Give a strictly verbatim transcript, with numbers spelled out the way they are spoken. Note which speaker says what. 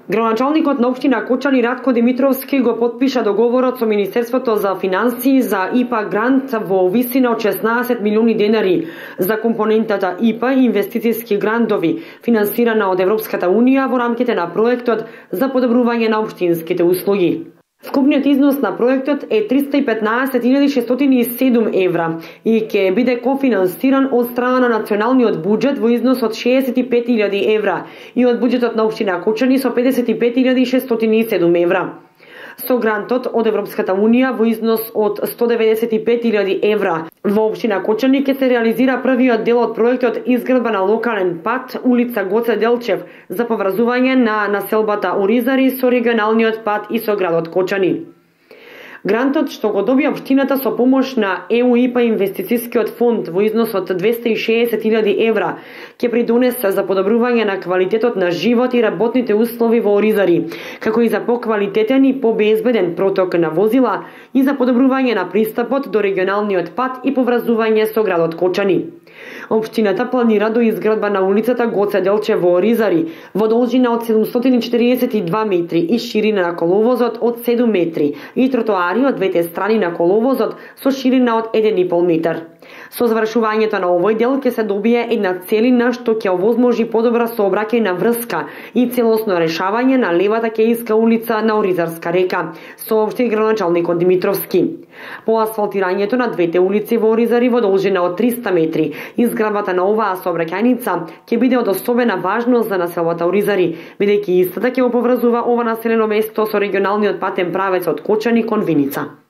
Speaker 1: Градоначалникот на општина Кочани Ратко Димитровски го потпиша договорот со Министерството за финансии за И П А грант во висина од шеснаесет милиони денари за компонентата И П А инвестициски грантови, финансирана од Европската унија во рамките на проектот за подобрување на општинските услуги. Вкупниот износ на проектот е триста и петнаесет илјади шестстотини и седум евра и ќе биде кофинансиран од страна на националниот буџет во износ од шеесет и пет илјади евра и од буџетот на општина Кочани со педесет и пет илјади шестстотини и седум евра. Со грантот од Европската унија во износ од сто деветдесет и пет илјади евра во општина Кочани ќе се реализира првиот дел од проектот изградба на локален пат улица Гоце Делчев за поврзување на населбата Оризари со регионалниот пат и со градот Кочани. Грантот што го добија општината со помош на Е У И П А инвестицискиот фонд во износ од двесте и шеесет илјади евра ќе придонесе за подобрување на квалитетот на живот и работните услови во Оризари, како и за поквалитетен и побезбеден проток на возила и за подобрување на пристапот до регионалниот пат и поврзување со градот Кочани. Општината планира до изградба на улицата Гоце Делчев во Оризари во должина од седумстотини и четириесет и два метри и ширина на коловозот од седум метри и тротоари од двете страни на коловозот со ширина од еден и пол метар. Со завршувањето на овој дел ќе се добие една целина што ќе овозможи подобра сообраќајна врска и целосно решавање на левата Кејска улица на Оризарска река, соопшти градоначалникот Димитровски. По асфалтирањето на двете улици во Оризари во должина од триста метри, изградбата на оваа сообраќајница ќе биде од особена важност за населбата Оризари, бидејќи истата ќе го поврзува ова населено место со регионалниот патен правец од Кочани кон Виница.